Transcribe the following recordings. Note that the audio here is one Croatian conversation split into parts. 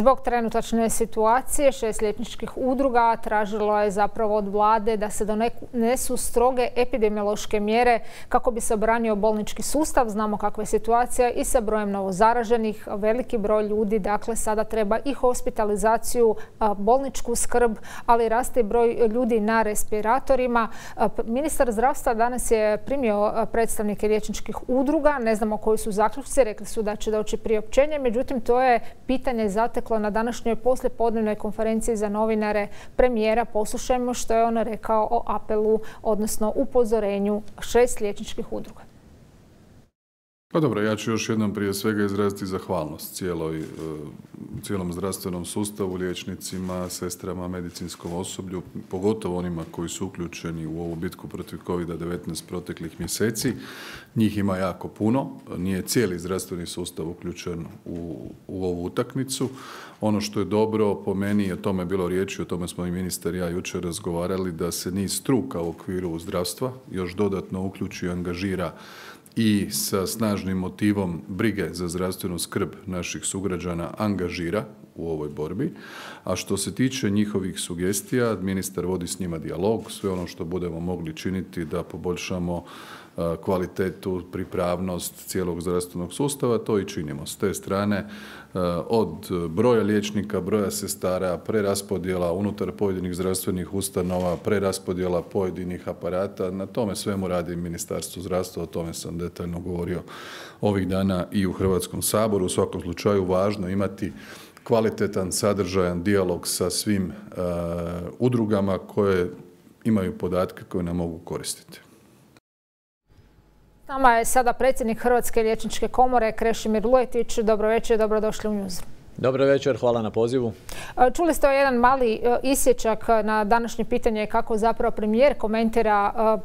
Zbog trenutačne situacije 6 liječničkih udruga tražilo je zapravo od vlade da se donesu stroge epidemiološke mjere kako bi se obranio bolnički sustav. Znamo kakva je situacija i sa brojem novozaraženih. Veliki broj ljudi, dakle, sada treba i hospitalizaciju, bolničku skrb, ali raste broj ljudi na respiratorima. Ministar zdravstva danas je primio predstavnike liječničkih udruga. Ne znamo koji su zaključci, rekli su da će doći priopćenje. Međutim, to je pitanje zateklo na današnjoj poslijepodnevnoj konferenciji za novinare premijera. Poslušajmo što je on rekao o apelu, odnosno upozorenju 6 liječničkih udruga. Pa dobro, ja ću još jednom prije svega izraziti zahvalnost cijelom zdravstvenom sustavu, liječnicima, sestrama, medicinskom osoblju, pogotovo onima koji su uključeni u ovu bitku protiv COVID-19 proteklih mjeseci. Njih ima jako puno, nije cijeli zdravstveni sustav uključen u ovu utakmicu. Ono što je dobro po meni, o tome je bilo riječi, o tome smo i ministar i ja jučer razgovarali, da se niz struka u okviru zdravstva još dodatno uključi i angažira i sa snažnim motivom brige za zdravstvenu skrb naših sugrađana angažira u ovoj borbi. A što se tiče njihovih sugestija, ministar vodi s njima dijalog, sve ono što budemo mogli činiti da poboljšamo kvalitetu, pripravnost cijelog zdravstvenog sustava, to i činimo. S te strane, od broja liječnika, broja sestara, preraspodjela unutar pojedinih zdravstvenih ustanova, preraspodjela pojedinih aparata, na tome svemu radi Ministarstvo zdravstva, o tome sam detaljno govorio ovih dana i u Hrvatskom saboru. U svakom slučaju važno imati kvalitetan, sadržajan dijalog sa svim udrugama koje imaju podatke koje nam mogu koristiti. S nama je sada predsjednik Hrvatske liječničke komore Krešimir Luetić. Dobro večer, dobrodošli u Newsroom. Dobro večer, hvala na pozivu. Čuli ste jedan mali isječak na današnje pitanje kako zapravo premijer komentira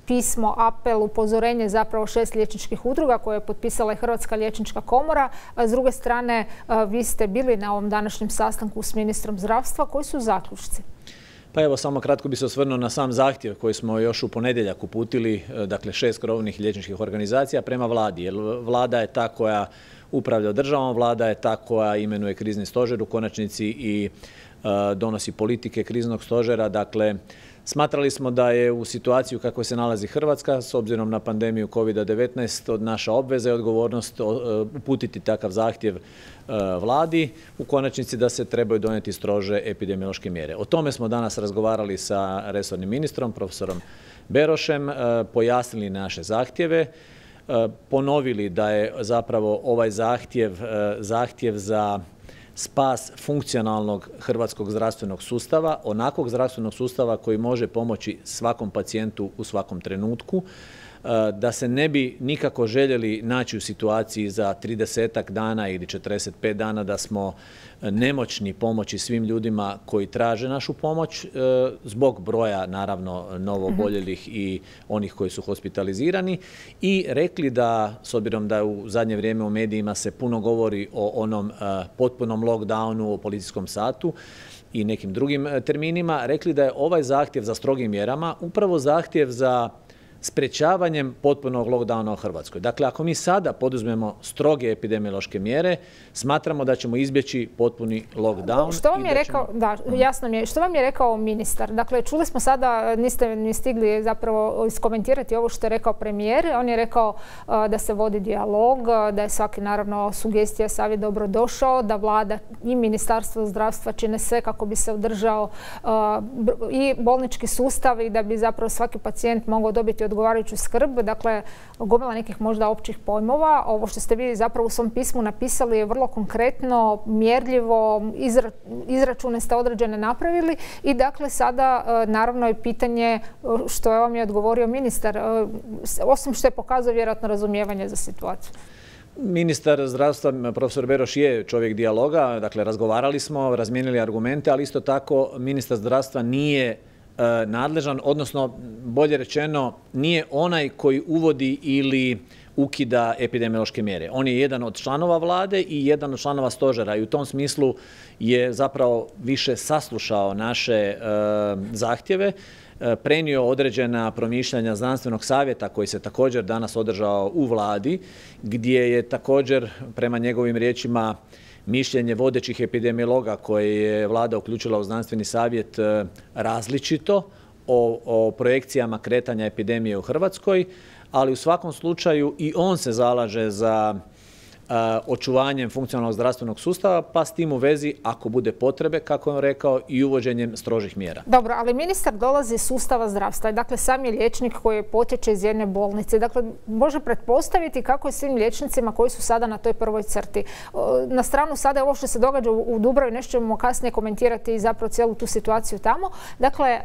pismo, apel, upozorenje zapravo 6 liječničkih udruga koje je potpisala i Hrvatska liječnička komora. S druge strane, vi ste bili na ovom današnjem sastanku s ministrom zdravstva. Koji su zaključci? Pa evo, samo kratko bi se osvrnuo na sam zahtjev koji smo još u ponedjeljak uputili, dakle 6 krovnih liječničkih organizacija prema vladi. Jer vlada je ta koja upravlja državom, vlada je ta koja imenuje krizni stožer u konačnici i donosi politike kriznog stožera. Dakle, smatrali smo da je u situaciji u kakvoj se nalazi Hrvatska, s obzirom na pandemiju COVID-19, od naša obveza i odgovornost uputiti takav zahtjev vladi, u konačnici da se trebaju donijeti strože epidemiološke mjere. O tome smo danas razgovarali sa resornim ministrom, profesorom Berošem, pojasnili naše zahtjeve, ponovili da je zapravo ovaj zahtjev za spas funkcionalnog hrvatskog zdravstvenog sustava, onakvog zdravstvenog sustava koji može pomoći svakom pacijentu u svakom trenutku, da se ne bi nikako željeli naći u situaciji za 30-ak dana ili 45 dana da smo nemoćni pomoći svim ljudima koji traže našu pomoć zbog broja, naravno, novooboljelih i onih koji su hospitalizirani, i rekli da, s obzirom da u zadnje vrijeme u medijima se puno govori o onom potpunom lockdownu, o policijskom satu i nekim drugim terminima, rekli da je ovaj zahtjev za strogim mjerama upravo zahtjev za sprečavanjem potpunog lockdowna u Hrvatskoj. Dakle, ako mi sada poduzmemo stroge epidemiološke mjere, smatramo da ćemo izbjeći potpuni lockdown. Što vam je rekao, da, jasno mi je, što vam je rekao ministar? Dakle, čuli smo sada, niste ni stigli zapravo iskomentirati ovo što je rekao premijer. On je rekao da se vodi dijalog, da je svaki, naravno, sugestija, savjet dobro došao, da vlada i Ministarstvo zdravstva čine sve kako bi se održao i bolnički sustav i da bi zapravo svaki pacijent mogao dobiti odgovarajuću skrb. Dakle, gomila nekih možda općih pojmova. Ovo što ste vi zapravo u svom pismu napisali je vrlo konkretno, mjerljivo, izračune ste određene napravili i dakle sada naravno je pitanje što je vam je odgovorio ministar, osim što je pokazao vjerojatno razumijevanje za situaciju. Ministar zdravstva, profesor Beroš, je čovjek dijaloga, dakle razgovarali smo, razmijenili argumente, ali isto tako ministar zdravstva nije nadležan, odnosno bolje rečeno nije onaj koji uvodi ili ukida epidemiološke mjere. On je jedan od članova vlade i jedan od članova stožera i u tom smislu je zapravo više saslušao naše zahtjeve, prenio određena promišljanja znanstvenog savjeta koji se također danas održao u vladi, gdje je također prema njegovim riječima mišljenje vodećih epidemiologa koje je vlada uključila u znanstveni savjet različito o projekcijama kretanja epidemije u Hrvatskoj, ali u svakom slučaju i on se zalaže za očuvanjem funkcionalnog zdravstvenog sustava, pa s tim u vezi, ako bude potrebe, kako je on rekao, i uvođenjem strožih mjera. Dobro, ali ministar dolazi iz sustava zdravstva. Dakle, sam je liječnik koji potječe iz jedne bolnice. Dakle, može pretpostaviti kako je svim liječnicima koji su sada na toj prvoj crti. Na stranu sada je ovo što se događa u Dubravi, nešto ćemo kasnije komentirati i zapravo cijelu tu situaciju tamo. Dakle,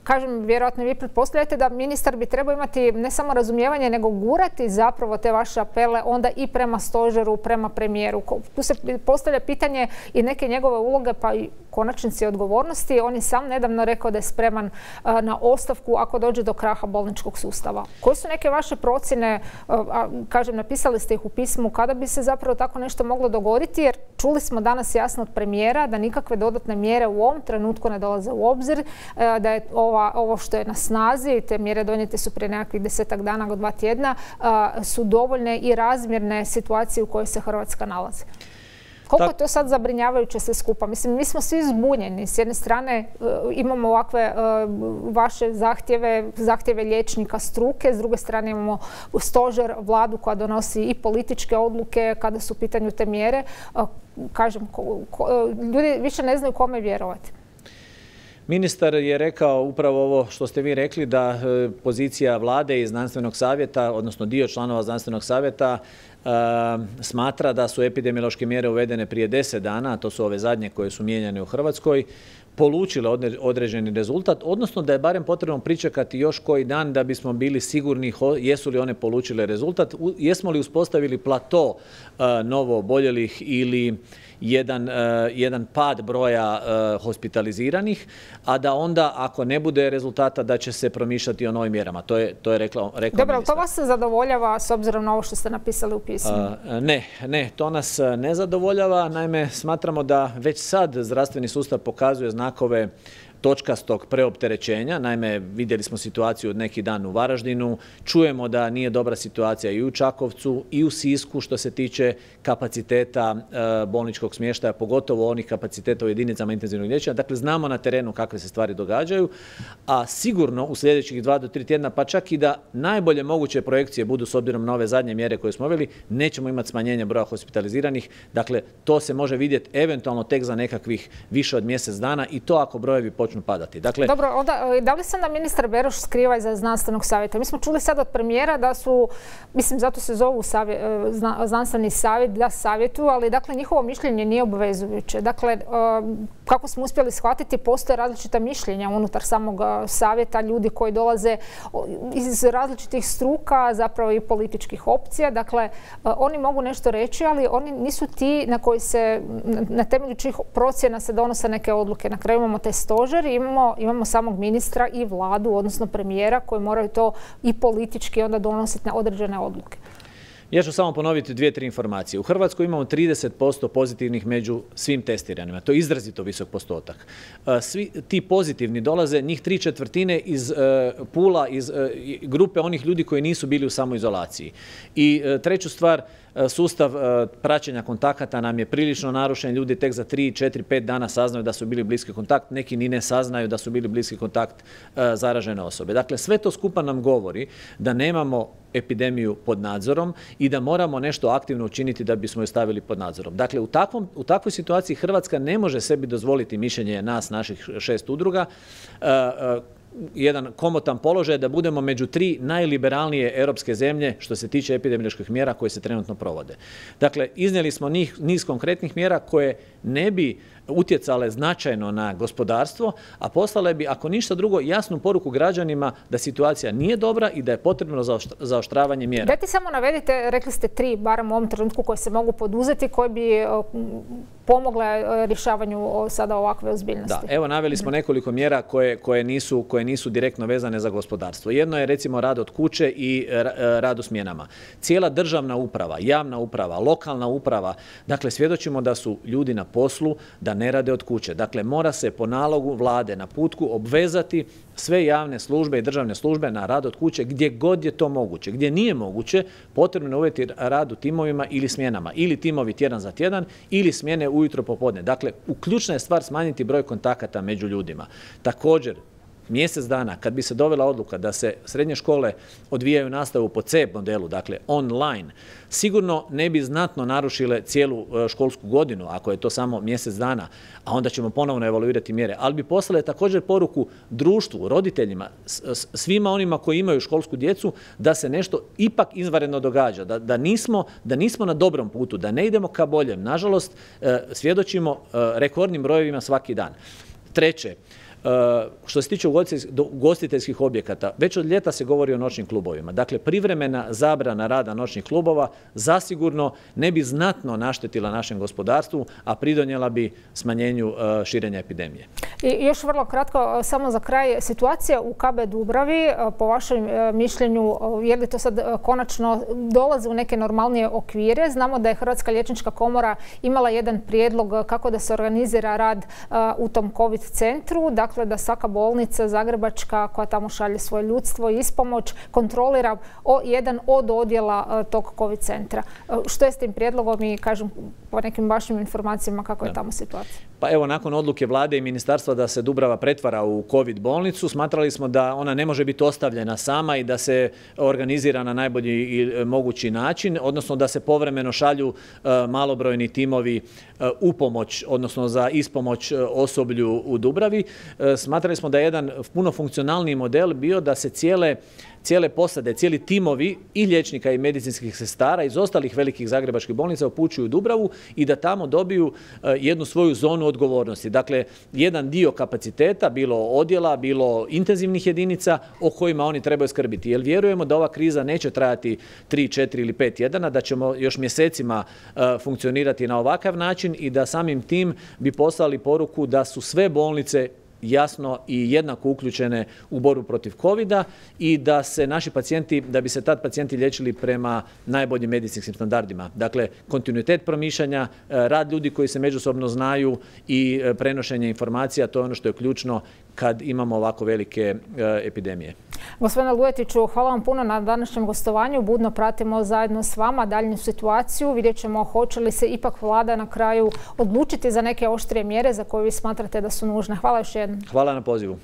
kažem, vjerojatno vi pretpostavljate da ministar bi trebao imati ne samo razumijevanje, nego gurati zapravo te vaše apele onda i prema stožeru, prema premijeru. Tu se postavlja pitanje i neke njegove uloge, pa i konačnici odgovornosti. On je sam nedavno rekao da je spreman na ostavku ako dođe do kraha bolničkog sustava. Koje su neke vaše procjene, kažem, napisali ste ih u pismu, kada bi se zapravo tako nešto moglo dogoditi, jer čuli smo danas jasno od premijera da nikakve dodatne mjere u ovom trenutku ne dolaze u obzir, da je ovo što je na snazi, te mjere donijete su prije nekakvih 10-ak dana do 2 tjedna, su dovoljne i razmjerne situacije u kojoj se Hrvatska nalazi. Koliko je to sad zabrinjavajuće sve skupa? Mislim, mi smo svi zbunjeni. S jedne strane imamo ovakve vaše zahtjeve liječnika struke, s druge strane imamo stožer, vladu koja donosi i političke odluke kada su u pitanju te mjere. Kažem, ljudi više ne znaju kome vjerovati. Ministar je rekao upravo ovo što ste vi rekli, da pozicija vlade i znanstvenog savjeta, odnosno dio članova znanstvenog savjeta, smatra da su epidemiološke mjere uvedene prije 10 dana, a to su ove zadnje koje su mijenjane u Hrvatskoj, polučile određeni rezultat, odnosno da je barem potrebno pričekati još koji dan da bismo bili sigurni jesu li one polučile rezultat, jesmo li uspostavili plato novo oboljelih ili jedan pad broja hospitaliziranih, a da onda ako ne bude rezultata da će se promišljati o novim mjerama. To je rekao ministar. Dobro, to vas zadovoljava s obzirom na ovo što ste napisali u pismu? Ne, to nas ne zadovoljava. Naime, smatramo da već sad zdravstveni sustav pokazuje znakove točkastog preopterećenja. Naime, vidjeli smo situaciju od neki dan u Varaždinu, čujemo da nije dobra situacija i u Čakovcu i u Sisku što se tiče kapaciteta bolničkog smještaja, pogotovo onih kapaciteta u jedinicama intenzivnog liječenja. Dakle, znamo na terenu kakve se stvari događaju, a sigurno u sljedećih 2 do 3 tjedna, pa čak i da najbolje moguće projekcije budu s obzirom na ove zadnje mjere koje smo uveli, nećemo imati smanjenje broja hospitaliziranih. Dakle, to se može vidjeti eventualno tek za nekakvih više od mjesec dana i to ako brojevi počnu padati. Dakle, dobro, onda da li se onda ministar Beroš skriva iza znanstvenog savjeta? Mi smo čuli sad od premijera da su, mislim zato se zovu znanstveni savjet, da savjetuju, ali dakle njihovo mišljenje nije obvezujuće. Dakle, kako smo uspjeli shvatiti, postoje različita mišljenja unutar samog savjeta, ljudi koji dolaze iz različitih struka, zapravo i političkih opcija. Dakle, oni mogu nešto reći, ali oni nisu ti na koji se, na temelju čijih procjena se donose neke odluke. Na kraju imamo taj stožer, imamo samog ministra i vladu, odnosno premijera, koji moraju to i politički onda donositi na određene odluke. Ja ću samo ponoviti 2-3 informacije. U Hrvatskoj imamo 30% pozitivnih među svim testiranima. To je izrazito visok postotak. Svi ti pozitivni dolaze, njih 3/4 iz pula, iz grupe onih ljudi koji nisu bili u samoizolaciji. I treću stvar, sustav praćenja kontakata nam je prilično narušen. Ljudi tek za 3, 4, 5 dana saznaju da su bili bliski kontakt. Neki ni ne saznaju da su bili bliski kontakt zaražene osobe. Dakle, sve to skupa nam govori da nemamo epidemiju pod nadzorom i da moramo nešto aktivno učiniti da bismo je stavili pod nadzorom. Dakle, u takvoj situaciji Hrvatska ne može sebi dozvoliti mišljenje nas, naših 6 udruga, jedan komotan položaj da budemo među 3 najliberalnije europske zemlje što se tiče epidemioloških mjera koje se trenutno provode. Dakle, iznijeli smo niz konkretnih mjera koje ne bi utjecale značajno na gospodarstvo, a poslale bi, ako ništa drugo, jasnu poruku građanima da situacija nije dobra i da je potrebno zaoštravanje mjera. Dajte samo navedite, rekli ste 3, barem u ovom trenutku, koje se mogu poduzeti, koje bi pomogle rješavanju sada ovakve ozbiljnosti. Da, evo naveli smo nekoliko mjera koje nisu direktno vezane za gospodarstvo. Jedno je recimo rad od kuće i rad u smjenama. Cijela državna uprava, javna uprava, lokalna uprava, dakle svjedočimo da su ljudi na poslu, da da ne rade od kuće. Dakle, mora se po nalogu vlade, naputku obvezati sve javne službe i državne službe na rad od kuće gdje god je to moguće. Gdje nije moguće, potrebno je uvjeti rad u timovima ili smjenama. Ili timovi tjedan za tjedan, ili smjene ujutro popodne. Dakle, ključna je stvar smanjiti broj kontakata među ljudima. Također, mjesec dana, kad bi se dovela odluka da se srednje škole odvijaju nastavu po C modelu, dakle online, sigurno ne bi znatno narušile cijelu školsku godinu, ako je to samo mjesec dana, a onda ćemo ponovno evaluirati mjere. Ali bi poslale također poruku društvu, roditeljima, svima onima koji imaju školsku djecu, da se nešto ipak izvanredno događa, da nismo na dobrom putu, da ne idemo ka boljem. Nažalost, svjedočimo rekordnim brojevima svaki dan. Treće, što se tiče ugostiteljskih objekata, već od ljeta se govori o noćnim klubovima. Dakle, privremena zabrana rada noćnih klubova zasigurno ne bi znatno naštetila našem gospodarstvu, a pridonijela bi smanjenju širenja epidemije. I još vrlo kratko, samo za kraj, situacija u KB Dubravi, po vašem mišljenju, je li to sad konačno dolazi u neke normalnije okvire? Znamo da je Hrvatska liječnička komora imala jedan prijedlog kako da se organizira rad u tom COVID centru, dakle da svaka bolnica zagrebačka koja tamo šalje svoje ljudstvo i ispomoć kontrolira jedan od odjela tog COVID centra. Što je s tim prijedlogom i, kažem, po nekim vašim informacijama kako je tamo situacija? Pa evo, nakon odluke vlade i ministarstva da se Dubrava pretvara u COVID bolnicu, smatrali smo da ona ne može biti ostavljena sama i da se organizira na najbolji mogući način, odnosno da se povremeno šalju malobrojni timovi u pomoć, odnosno za ispomoć osoblju u Dubravi. Smatrali smo da je jedan puno funkcionalniji model bio da se cijele posade, cijeli timovi i liječnika i medicinskih sestara iz ostalih velikih zagrebačkih bolnica upućuju u Dubravu i da tamo dobiju jednu svoju zonu odgovornosti. Dakle, jedan dio kapaciteta, bilo odjela, bilo intenzivnih jedinica o kojima oni trebaju skrbiti. Jer vjerujemo da ova kriza neće trajati 3, 4 ili 5 tjedana, da ćemo još mjesecima funkcionirati na ovakav način i da samim tim bi poslali poruku da su sve bolnice jasno i jednako uključene u borbu protiv covida i da se naši pacijenti, da bi se tad pacijenti liječili prema najboljim medicinskim standardima. Dakle, kontinuitet promišljanja, rad ljudi koji se međusobno znaju i prenošenje informacija, to je ono što je ključno kad imamo ovako velike epidemije. Gospodine Lujetiću, hvala vam puno na današnjem gostovanju. Budno pratimo zajedno s vama daljnju situaciju. Vidjet ćemo hoće li se ipak vlada na kraju odlučiti za neke oštrije mjere za koje vi smatrate da su nužne. Hvala još jednom. Hvala na pozivu.